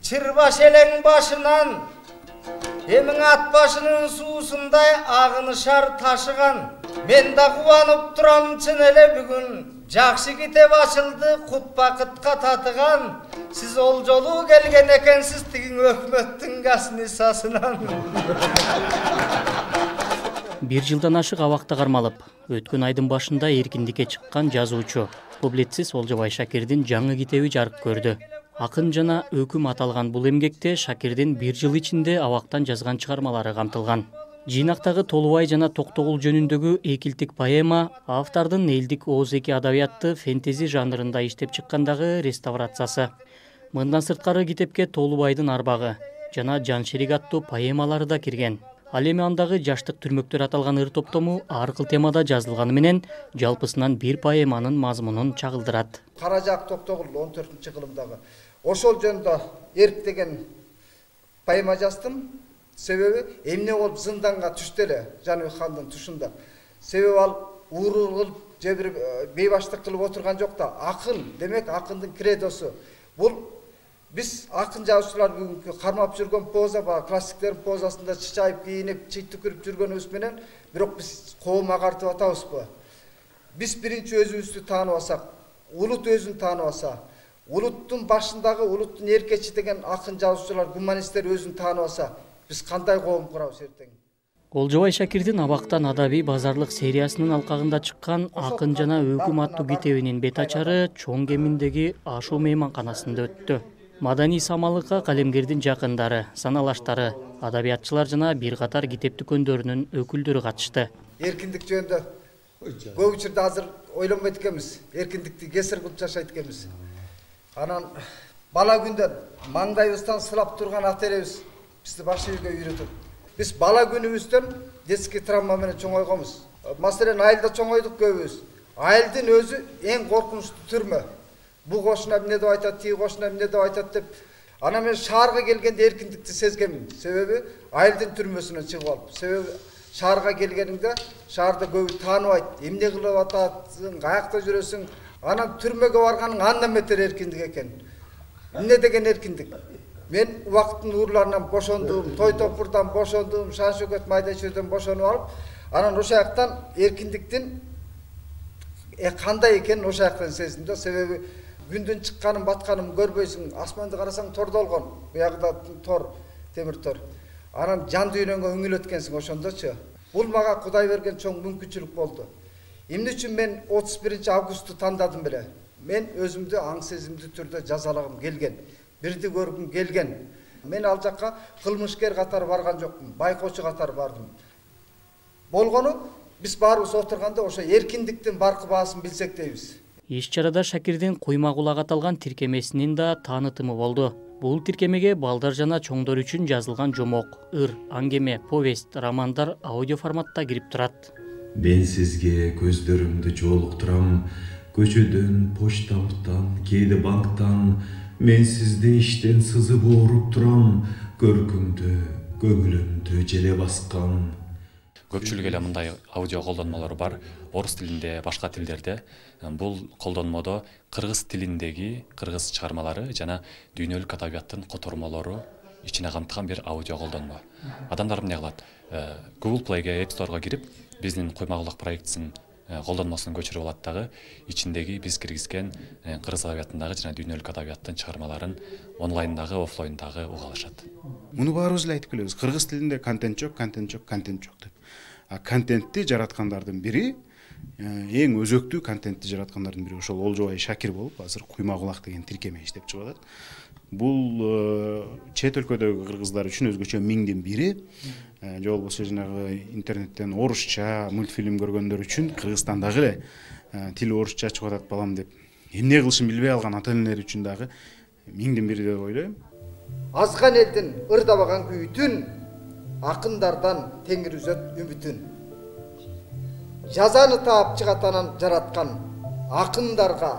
чырбаш элең башынан эмиң ат башынын суусундай агынышар ташыган. Мен да кубанып турам чын эле бүгүн. Жакшы китеп ачылды, кут бакытка татыган. Сиз ол жолу келген экенсиз тигин өкмөттүн гаснисасынан. Бир жылдан ашык абакта кармалып, өткөн айдын башында эркиндикке чыккан жазуучу, публицист Олжобай Шакирдин жаңы китеби жарык көрдү. Акын жана өкүм аталган бул эмгекте Шакирдин бир жыл ичинде абактан жазган чыгармалары камтылган. Жыйнактагы Толубай жана Токтогул жөнүндөгү экилтик поэма автордун элдик ооз-эки адабиятты фэнтези жанрында иштеп чыккандагы реставрациясы. Мындан сырткары китепке Толубайдын арбагы жана Жаншерик аттуу поэмалары да кирген. Ал эми андагы жаштык түрмөктөр аталган ыр топтому ар кыл темада жазылганы менен жалпысынан бир поэманын мазмунун чагылдырат. Кара жак Токтогул 14-кылымдагы ошол жөнүндө Эрк деген поэма жаздым. Себеби эмне болуп зынданга түштү эле Жаныбек хандын тушунда. Себеби ал ууруу кылып же бир бейбаштык кылып отурган жок да. Акын, демек акындын кредосу. Бул биз акын жазуучулар бүгүнкү кармап жүргөн поза, классиктердин позасында чычайып кийинип, чый түкүрүп жүргөнүбүз менен, бирок биз коом агартып атабызбы? Биз биринчи өзүбүздү таанып алсак, улут өзүн таанып алса, улуттун башындагы улуттун эркечи деген акын жазуучулар, гуманисттер өзүн таанып алса, биз кандай коом курабыз эртең? Олжобай Шакирдин абактан адабий базарлык сериясынын алкагында чыккан Акын жана өкүм аттуу китебинин бет ачары чоң кеминдеги ашуу мейманканасында өттү. Маданий самалыкка калемгердин жакындары, саналаштары, адабиятчылар жана бир катар китеп дүкөндөрүнүн өкүлдөрү катышты. Эркиндик жөнүндө көп учурда азыр ойлонбойт экенбиз. Эркиндикти кесир кылып жашайт экенбиз. Анан бала күндөн маңдайыбыздан сылап турган ата энебиз бизди баш ийүүгө үйрөтөт. Биз бала күнүбүздөн детский травма менен чоңойгонбуз. Маселен, айылда чоңойдук көбүбүз. Айылдын өзү эң коркунучтуу түрмө. Бу кошуна эмне деп айтат, тиги кошуна эмне деп айтат деп. Анан мен шаарга келгенде эркиндикти сезгенмин. Себеби айылдын түрмөсүнөн чыгып алып. Себеби шаарга келгениңде шаарда көбү тааныбайт. Эмне кылып атасың, каякта жүрөсүң? Анан түрмөгө барганың андан бетер эркиндик экен. Эмне деген эркиндик? Мен убакыттын уурларынан бошондум, той топурдан бошондум, шан шөкөт майда чөйдөн бошонуп алып, анан ошол жактан эркиндиктин кандай экенин ошол жактан сездим да. Себеби күндүн чыкканын, батканын көрбөйсүң, асманды карасаң тордолгон, буягында тор, темир тор. Анан жан дүйнөңө үңүлөткенсиң ошондочу. Бул мага Кудай берген чоң мүмкүнчүлүк болду. Эмне үчүн мен 31-августту тандадым беле? Мен өзүмдү аң сезимдүү түрдө жазалагым келген. Бирди көргүм келген. Мен ал жакка кылмышкер катары барган жокмун, байкоочу катары бардым. Болгону биз баарыбыз отурганда ошо эркиндиктин баркы баасын билсек дейбиз. Иш чарада Шакирдин Куйма кулак аталган тиркемесинин да таанытымы болду. Бул тиркемеге балдар жана чоңдор үчүн жазылган жомок, ыр, аңгеме, повесть, романдар аудио форматта кирип турат. Мен сизге көздөрүмдү жолуктурам, көчөдөн, почтабыттан, кээде банктан. Мен сизди иштен сызып ооруп турам, көркүмдү, көңүлүмдү желе баскан. Көпчүлүк эле мындай аудио колдонмолор бар, орус тилинде, башка тилдерде. Бул колдонмодо кыргыз тилиндеги кыргыз чыгармалары жана дүйнөлүк адабияттын котормолору ичине камтыган бир аудио колдонмо. Адамдар эмне кылат? Google Play'ге, App Store'га кирип, биздин Куйма кулак проектисин колдонмосун көчүрүп алат дагы, ичиндеги биз киргизген кыргыз адабиятындагы жана дүйнөлүк адабияттын чыгармаларын онлайндагы, офлайндагы уга алышат. Муну баарыбыз эле айтып келебиз. Кыргыз тилинде контент жок, контент жок, контент жок деп. А контентти жараткандардын бири, эң өзөктүү контентти жараткандардын бири ошол Олжобай Шакир болуп, азыр Куйма кулак деген тиркеме иштеп чыгып атат. Бул чет өлкөдөгү кыргыздар үчүн өзгөчө миңдин бири. Же болбосо жанагы интернеттен орусча мультфильм көргөндөр үчүн Кыргызстандагы эле тили орусча чыгып атат балам деп эмне кылышын билбей алган ата энелер үчүн дагы миңдин бири деп ойлойм. Азган элдин ырдабаган күйүтүн, акындардан теңир үзөт үмүтүн. Жазаны таап чыгатанан жараткан, акындарга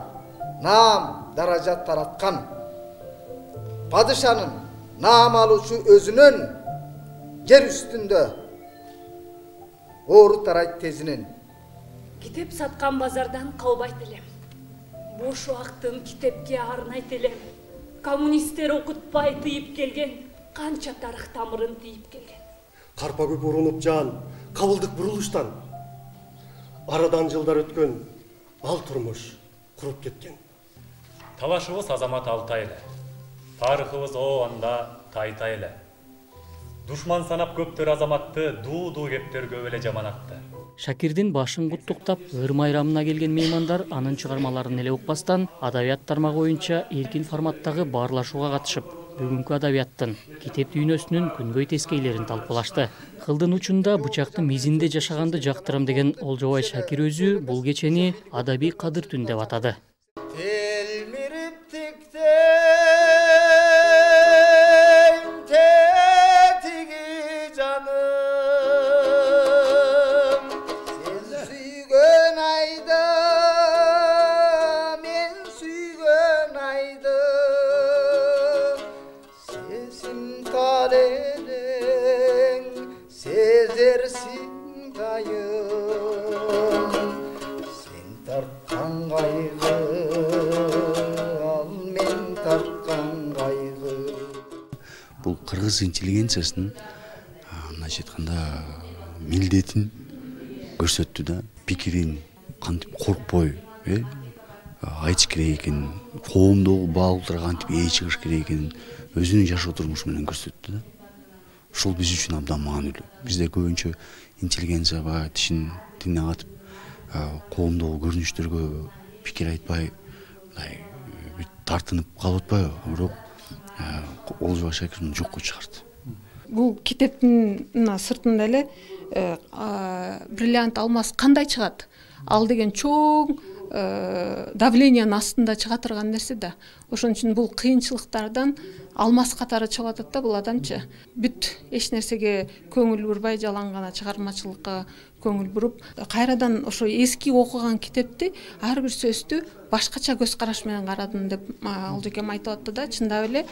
наам даражат тараткан. Падышанын наам алуучу өзүнөн, жер үстүндө оору тарайт тезинен. Китеп саткан базардан калбайт элем. Бош убактын китепке арнайт элем. коммунисттер окутпай тыйып келген канча тарых тамырын тийип келген. Карпа көп урунуп жаан кабылдык бурулуштан арадан жылдар өткөн ал турмуш куруп кеткен. Талашыбыз азамат алтай эле. Тарыхыбыз анда тайтай эле. Душман санап көптөр азаматты дуу кептергөө эле жаман атты. Шакирдин башын куттуктап, ыр майрамына келген меймандар анын чыгармаларын эле укпастан, адабият тармагы боюнча эркин форматтагы баарлашууга катышып, бүгүнкү адабияттын, китеп дүйнөсүнүн күнгөй тескейлерин талкуулашты. Кылдын учунда бычактын мизинде жашаганды жактырам деген Олжобай Шакир өзү бул кечени адабий кадыр түн деп атады. Бул кыргыз интеллигенциясынын мындайча айтканда милдетин көрсөттү да, пикирин кантип коркпой айтыш керек экенин, коомдогу баалууларга кантип ээ чыгыш керек экенин өзүнүн жашоо турмушу менен көрсөттү да. Ушул биз үчүн абдан маанилүү. Бизде көбүнчө интеллигенция баягы тине катып, коомдогу көрүнүштөргө пикир айтпай, мындай тартынып калып атпайбы? Бирок Олжобай Шакир муну жокко чыгарды. Бул китептин сыртында эле бриллиант алмаз кандай чыгат? Ал деген чоң давлениянын астында чыга турган нерсе да. Ошон үчүн бул кыйынчылыктардан алмаз катары чыгып атат да бул адамчы. Бүт эч нерсеге көңүл бурбай, жалаң гана чыгармачылыкка көңүл буруп, кайрадан ошо эски окуган китепти ар бир сөздү башкача көз караш менен карадым деп Олжекем айтып атты да. Чындап эле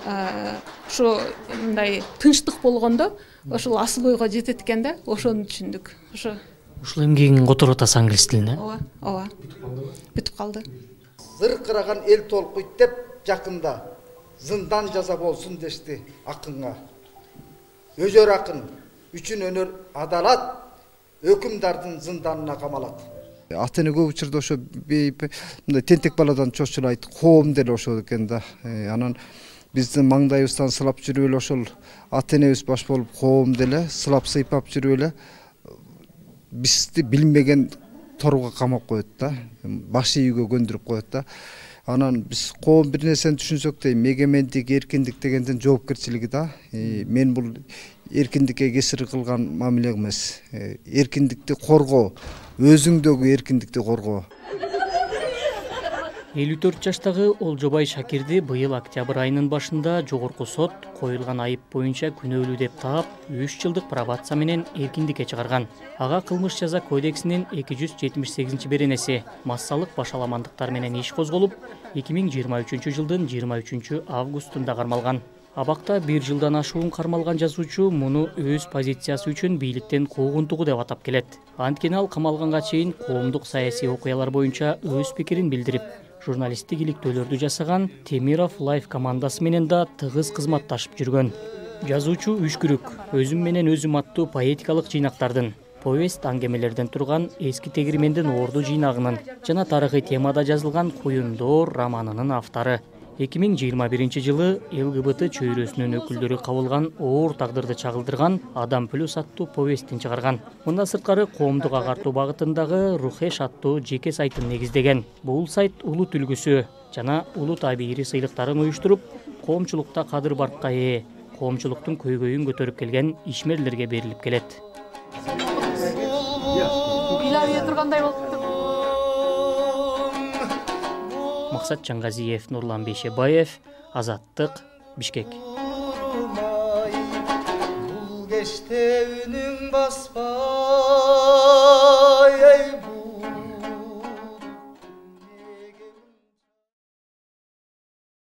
ошо мындай тынчтык болгондо ошол асыл ойго жетет экен да, ошону түшүндүк. Ушул эмгегиң которуп атасы англис тилине? Ооба. Бүтүп калды. Зыркыраган эл толкуйт деп жакында зындан жаза болсун дешти акынга. Өзөр акын үчүн өнөр адалат, өкүмдардын зынданына камалат. Ата эне көп учурда ошо мындай тентек баладан чочулайт, коом деле ошол экен да. Анан биздин маңдайыбыздан сылап жүрүп эле ошол ата энебиз баш болуп коом деле сылап сыйпап жүрүп эле бизди билмеген торго камап коет да, баш ийүүгө көндүрүп коет да. Анан биз коом бир нерсени түшүнсөк дейм, эгемендик, эркиндик дегендин жоопкерчилиги да. Мен бул эркиндикке кесир кылган мамиле эмес. Эркиндикти коргоо, өзүңдөгү эркиндикти коргоо. 54 жаштагы Олжобай Шакирди быйыл октябрь айынын башында жогорку сот коюлган айып боюнча күнөөлүү деп таап 3 жылдык пробация менен эркиндикке чыгарган. Ага кылмыш жаза кодексинин 278-беренеси массалык башаламандыктар менен иш козголуп, 2023 жылдын 23 августунда кармалган. Абакта 1 жылдан ашуун кармалган жазуучу муну өз позициясы үчүн бийликтен куугунтугу деп атап келет. Анткени ал камалганга чейин коомдук саясий окуялар боюнча өз пикирин билдирип, журналисттик иликтөөлөрдү жасаган Темиров Лайф командасы менен да тыгыз кызматташып жүргөн. Жазуучу Үшкүрүк өзүм менен өзүм аттуу поэтикалык жыйнактардын, повесть аңгемелерден турган эски тегирмендин орду жыйнагынын жана тарыхый темада жазылган Куюндор романынын автору. 2021 жылы ЛГБТ чөйрөсүнүн өкүлдөрү кабылган оор тагдырды чагылдырган Адам плюс аттуу повестин чыгарган. Мындан сырткары коомдук агартуу багытындагы Рухеш аттуу жеке сайтын негиздеген. Бул сайт улут үлгүсү жана улут абийири сыйлыктарын уюштуруп, коомчулукта кадыр баркка ээ, коомчулуктун көйгөйүн көтөрүп келген ишмерлерге берилип келет. Үйлөрү тургандай болупту. Максат Жаңгазиев, Нурлан Бейшебаев, Азаттык, Бишкек. Бул кечте үнүң баспа